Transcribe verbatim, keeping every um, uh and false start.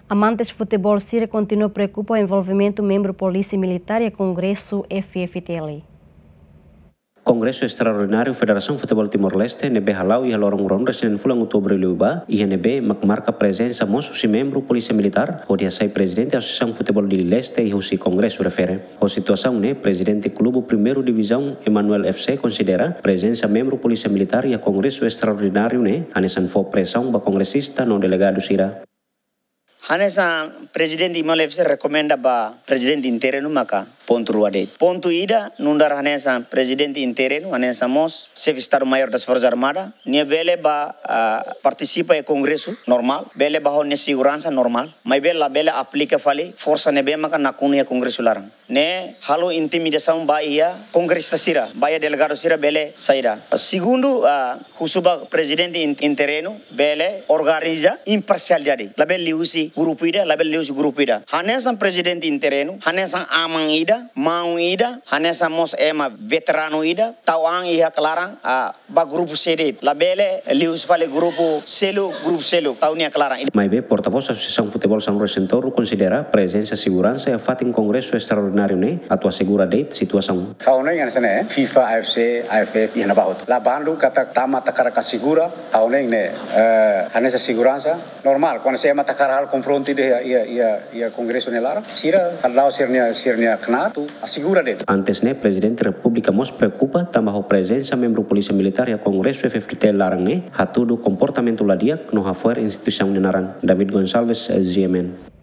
Amantes futeból sira kontinua preokupa ho envolvimentu membru Polísia Militár iha Kongresu F F T L. Kongresu Estraordináriu Federasaun Futeból Timor-Leste ne'ebé hala'o iha loron ruanulu-resin-neen fulan Outubru liubá, iha ne'ebé mak marka prezensa mós husi membru Polísia Militár, hodi hasai Prezidente Asosiasaun Futeból Dili Leste iha husi Kongresu refere. Ho situasaun ne'e, Prezidente Klube Primeira Divizaun Emanuel F C konsidera prezensa membru Polísia Militár iha Kongresu Estraordináriu ne'e hanesan fó presaun ba kongresista no delegadu sira. Hanesan Prezidente Emanuel F C rekomenda ba Prezidente Interinu maka pontu rua de'it. Pontu ida, nu'udar hanesan Prezidente Interinu, hanesan mós Xefe Estadu-Maiór das Forças Armadas, nia bele bá, ah, partisipa iha kongresu normál, bele bá ho nia seguransa normál, maibé labele aplika fali forsa ne'ebé maka nakonu iha kongresu laran. Ne'e halo intimidasaun ba iha kongresista sira, ba iha delegadu sira bele saida. Segundu, ah, husu ba Prezidente in-, Interinu bele organiza imparsialidade. Labele liuhusi grupu ida, labele liuhusi grupu ida. Hanesan Prezidente Interinu, hanesan aman ida, maun ida, hanesan mós ema veteranu ida, tau an iha klaran, ah, ba grupu C D, labele liuhusi fali grupu seluk, grupu seluk, tau nia klaran. Maibé portavós Asosiasaun Futeból sanulu-resin-tolu konsidera prezensa seguransa iha fatin Kongresu Estraordináriu ne'e atu asegura de'it situasaun. Ha'u hanoin hanesan ne'e, FIFA, A F C, A F F, iha ne'ebá hotu. La bandu katak tama hakarak asegura, ha'u hanoin ne'e, eh, hanesan seguransa normál, kuandu se ema hakarak halo konfrontu ida iha, iha, iha, iha kongresu nia laran, sira hala'o sira-nia, sira-nia knaar atu asegura de'it. Antes ne'e, Prezidente Repúblika mós preokupa tanba ho prezensa membru Polísia Militár iha Kongresu F F T L laran ne'e hatudu komportamentu la di'ak no hafo'er instituisaun nia naran. David Gonçalves, G M N.